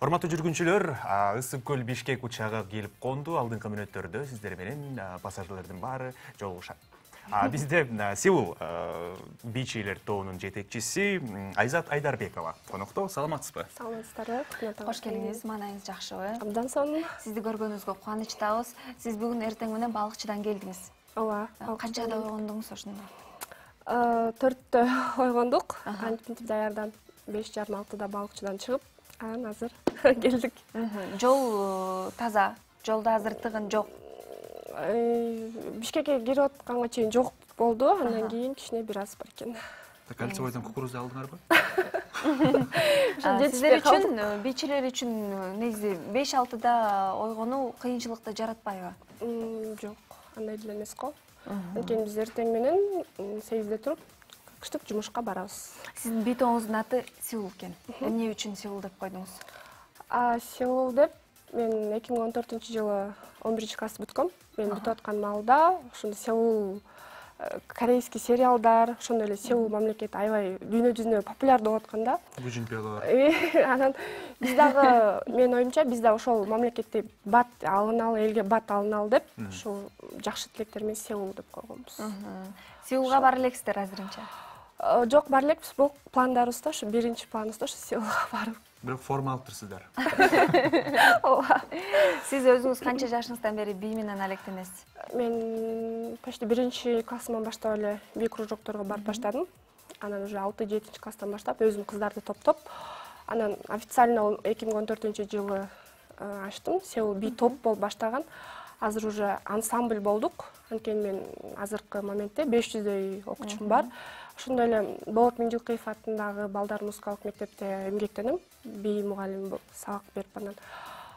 Урматтуу жүргүнчүлөр, Ысык көл Бишкек учагы келип конду. Алдыңкы мүнөттөрдө сиздер менен пассажирлердин баары жолугушат. Бизде Сеул бичилер тобунун жетекчиси Айзат Айдарбекова конокто. Саламатсызбы? Саламатсыздарбы? Кош келиңиз. Маанайыңыз жакшыбы? Абдан сонун. Сизди көргөнүбүзгө кубанычтабыз. Сиз бүгүн эртең менен балыкчыдан келдиңиз. Ооба. Канчада ойгондуңуз ошондо? 4-тө ойгондук. Кантип даярданып 5:30-6-да балыкчыдан чыгып, анан азыр келдик. Жол таза. Жолдо азыр тыгын жок. Бишкекке кирип атканга чейин жок болду. Андан кийин кичине бир аз бар экен. Кольцевойдон кукурузду алдыңарбы? Сиздер үчүн, бичилер үчүн негизи 5-6-да ойгонуу кыйынчылыкты жаратпайбы? Жок, андай деле эмес го. Анткени биз эртең менен 8-де туруп, кыштык жумушка барабыз. Сиздин битоңуздун аты Сеул экен. Эмне үчүн Сеул деп койдуңуз? Сеул деп мен 2014-жылы 11-класс бүткөм. Мен бүтүп аткан маалда ошондо Сеул корейский сериалдар, ошондой эле Сеул мамлекети аябай дүйнө жүзүнө популярдуу болуп аткан да. Гүжүнпелар. Анан биз дагы, менин оюмча, биз да ошол мамлекетти бат алыналы, элге бат алыналы деп, ушул жакшы тилектер менен Сеул деп койгонбуз. Сеулга бара элексиздер азырынча? Жок, бара элекпиз. Бул пландарыбызда, ошо биринчи планыбызда ошо Сеулга барып. Бирок форма алыптырсыздар. Ооба. Сиз өзүңүз канча жашыңыздан бери бий менен алектенесиз? Мен почти 1-классыман баштап эле бий кружокторго барып баштадым. Анан уже 6-7 класстан баштап өзүм кыздарды топтоп, анан официально 2014-жылы ачтым. Сеул бий топ болуп баштаган. Азыр уже ансамбль болдук. Анткени мен азыркы моментте 500дөй окуучум бар. Ошондой эле Болот Миңжилкыев атындагы балдар музыкалык мектепте эмгектенем. Бий мугалим болуп сабак берип анан.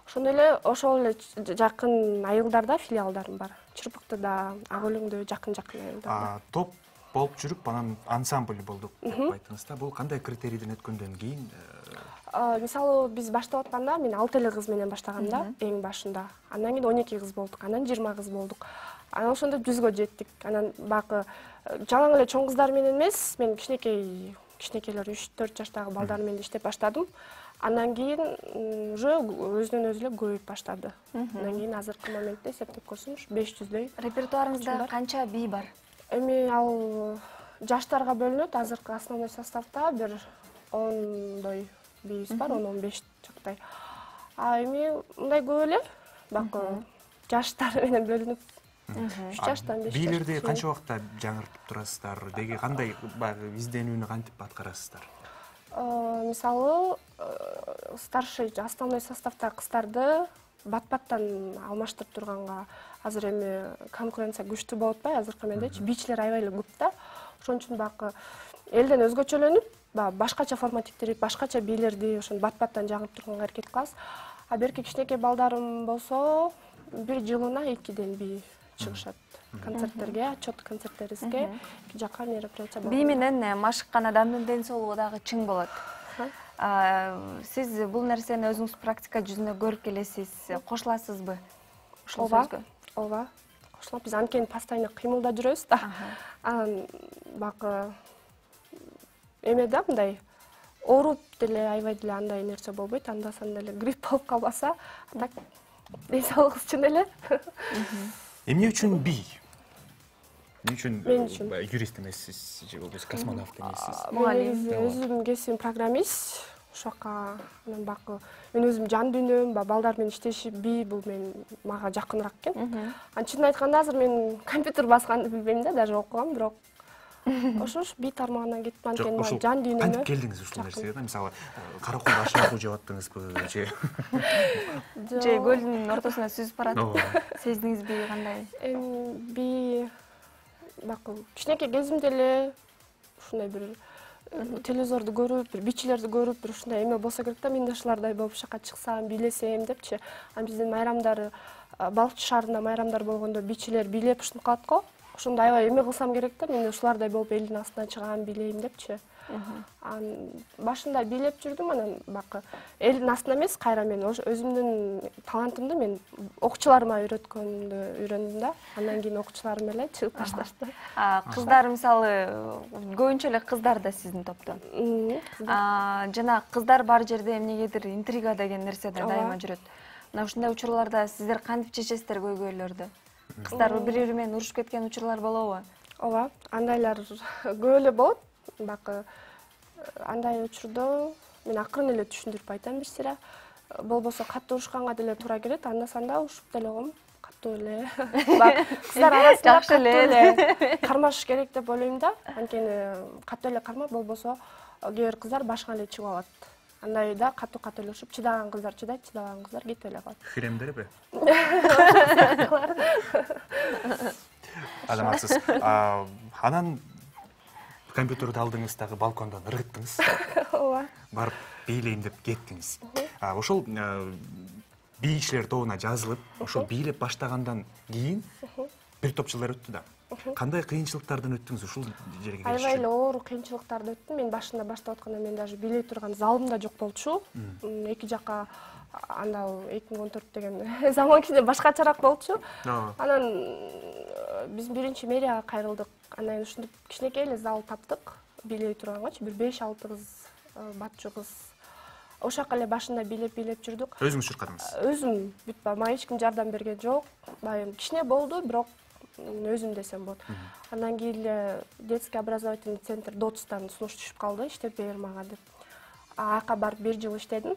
Ошондой эле ошол эле жакын айылдарда филиалдарым бар. Чырпыктыда, Ак Өлөңдө жакын-жакын айылдарда. Топ болуп жүрүп, анан ансамбль болдук деп айттыңыз да. Бул кандай критерийден өткөндөн кийин? Мисалы, биз баштап атканда мен 6 эле кыз менен баштагам да, эң башында. Андан кийин 12 кыз болдук, анан 20 кыз болдук. Анан ошондо 100гө жеттик. Анан багы жалаң эле чоң кыздар менен эмес, мен кичинекейлер 3-4 жаштагы балдар менен иштеп баштадым. Андан кийин уже өзүнөн өзү эле көбөйүп баштады. Андан кийин азыркы моментте эсептеп көрсөм 500дөй. Репертуарыңызда канча бий бар? Эми ал жаштарга бөлүнөт. Азыркы основной составда бир 10дой бийибиз бар, 10-15 жактай. Эми мындай көп эле, бакы жаштар менен бөлүнүп 3 жаштан 5 жаштан. Бийлерди канча убакта жаңыртып турасыздар? Деги кандай баягы изденүүнү кантип аткарасыздар? Мисалы, старший основной составда кыздарды бат-баттан алмаштырып турганга азыр эми конкуренция күчтүү болуп атпайбы азыркы мендечи? Бичилер аябай эле көп да. Ошон үчүн бакы элден өзгөчөлөнүп, башкача форматиктирип, башкача бийлерди ошон бат-баттан жаңырып турганга аракет кылабыз. А берки кичинекей балдарым болсо, бир жылына 2ден бий чыгышат. Концерттерге, отчет концерттерибизге, эки жакка мероприятия болот. Бий менен машыккан адамдын ден соолугу дагы чың болот. Сиз бул нерсени өзүңүз практика жүзүндө көрүп келесиз, кошуласызбы? Ооба, ооба. Кошулам. Биз анткени постоянно кыймылда жүрөбүз да. Анан бакы эме да мындай ооруп деле аябай деле андай нерсе болбойт. Анда-санда эле грипп болуп калбаса, так ден соолугубуз чын эле. Эмне үчүн бий? Эмне Мен үчүн юрист эмессиз же болбосо космонавт эмессиз? Мугалим. Өзүм кесибим программист. Ошока анан бакы мен өзүм жан дүйнөм, балдар менен иштешип, бий бул мага жакыныраак экен. Чынын айтканда азыр мен компьютер басканды билбейм да, даже окугам, бирок ошо бий тармагына кетип анткени мага жан дүйнөмө. Кантип келдиңиз ушул нерсеге да? Мисалы, каракол ашып окуп жеп аттыңызбы же? Же көлдүн ортосуна сүзүп барат. Сездиңизби кандай? Бий бакы кичинекей кезимде эле ушундай бир телевизорду көрүп, бир бичилерди көрүп, бир ушундай эме болсо керек да, мен да ушулардай болуп жака чыксам, бийлесем депчи. Анан биздин майрамдар, балыкчы шаарында майрамдар болгондо бичилер бийлеп ушинтип калат го. Ошондо аябай эме кылсам керек да, мен ушулардай болуп элдин астынан чыгам, бийлейм депчи. Башында бийлеп жүрдүм, анан бакы элдин астында эмес, кайра мен өзүмдүн талантымды мен окуучуларыма үйрөткөндү үйрөндүм да. Андан кийин окуучуларым эле чыгып башташты. Кыздар мисалы көбүнчө эле кыздар да сиздин топто. Жана кыздар бар жерде эмнегедир интрига деген нерсе да дайыма жүрөт. Мына ушундай учурларда сиздер кантип чечесиздер көйгөйлөрдү? Кыздар бири-бири менен урушуп кеткен учурлар болобу? Ооба, андайлар көп эле болот. Бакы андай учурда мен акырын эле түшүндүрүп айтам бир сыйра. Болбосо катуу урушканга деле туура келет, анда-санда урушуп деле койм. Катуу эле. Кыздар арасында катуу эле кармашыш керек деп ойлойм да. Анткени катуу эле кармап, болбосо кээ бир кыздар башыңа эле чыгып алат. Андайда катуу эле урушуп, чыдаган кыздар чыдайт, чыдабаган кыздар кетип эле калат. Хиремдерби? Азаматсыз. Анан компьютерди алдыңыз, дагы балкондон ыргыттыңыз. Ооба. Барып бийлейин деп кеттиңиз. Ошол бийчилер тобуна жазылып, ошол бийлеп баштагандан кийин бир топ жылдар өттү да. Кандай кыйынчылыктардан өттүңүз ушул жерге келиш үчүн? Аябай эле оор кыйынчылыктарды өттүм. Мен башында баштап атканда мен даже бийлей турган залым да жок болчу. Эки жака анда 2014 деген заман кичине башкачараак болчу. Анан биз биринчи мэрияга кайрылдык. Анан ушинтип кичинекей эле зал таптык. Бийлей тургангачы бир 5-6 кыз, батчу кыз. Ошак эле башында бийлеп жүрдүк. Өзүңүз чуркадыңыз? Өзүм бүт мага эч ким жардам берген жок. Байым кичине болду, бирок өзүм десем болот. Андан кийин эле детский образовательный центр ДОЦтан сунуш түшүп калды, иштеп бер мага деп. Аяка барып 1 жыл иштедим.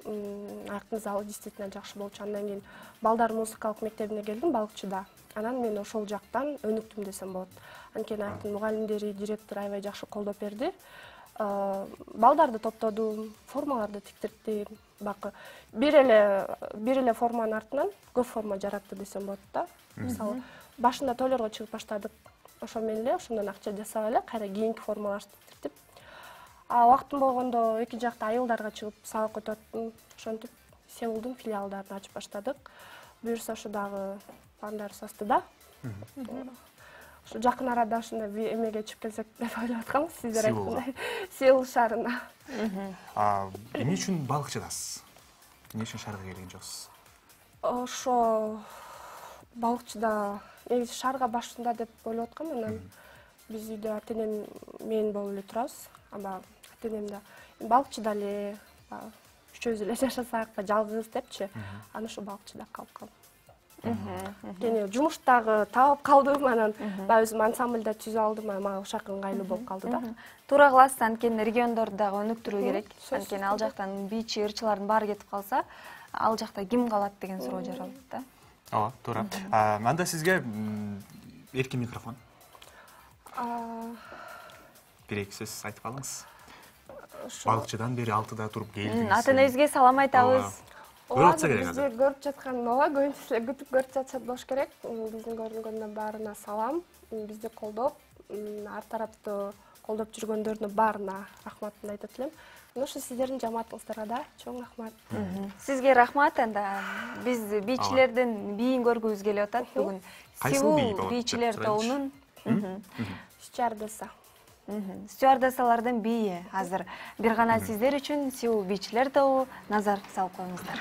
Аяктын залы действительно жакшы болчу. Андан кийин балдар музыкалык мектебине келдим, Балыкчыда. Анан мен ошол жактан өнүктүм десем болот. Анткени аяктын мугалимдери, директор аябай жакшы колдоп берди. Балдарды топтодум, формаларды тиктирдим. Бакы бир эле форманын артынан көп форма жаратты десем болот да. Мисалы, башында тойлорго чыгып баштадык. Ошо менен эле ошондон акча жасап эле кайра кийинки формаларды тиктирдим. Убактым болгондо эки жакта айылдарга чыгып сабак өтүп аттым. Ошентип Сеулдун филиалдарын ачып баштадык. Буюрса ошо дагы пландар састыда. Ошо жакын арада ушундай эмеге чыгып келсек деп ойлоп атканбыз, сиздер айткандай. Сеул шаарына. Эмне үчүн Балыкчыдасыз? Эмне үчүн шаарга келген жоксуз? Ошо Балыкчыда негизи шаарга башында деп ойлоп аткам. Анан биз үйдө ата-энем мен болуп эле турабыз. Ата-энем да Балыкчыда эле үчөөбүз эле жашасак да жалгыз депчи. Анан ошо Балыкчыда калып калдым. Кени жумуштагы таап калдым, анан баягы өзүм ансамбльда түзүп алдым, мага ошак ыңгайлуу болуп калды да. Туура кыласыз, анткени региондорду дагы өнүктүрүү керек. Анткени ал жактан бийчи, ырчылардын баары кетип калса, ал жакта ким калат деген суроо жаралат да. Ооба, туура. Анда сизге эркин микрофон. Бир-эки сөз айтып алыңыз. Балыкчыдан бери 6да туруп келдиңиз. Ата-энеңизге салам айтабыз. Көрүп атса керек азыр. Бизди көрүп жаткан ооба, көбүнчө күтүп көрүп жатышат болуш керек. Биздин көрүнгөндөн баарына салам. Бизди колдоп, ар тараптуу колдоп жүргөндөрүнүн баарына рахматымды айтат элем. Ошо сиздердин жамаатыңыздарга да чоң рахмат. Сизге рахмат. Анда биз бийчилердин бийин көргүбүз келип атат бүгүн. Сеул бийчилер тобунун стюардесса. Стюардессалардын бийи азыр бир гана сиздер үчүн Сеул бийчилер тобу назар салып коюңуздар.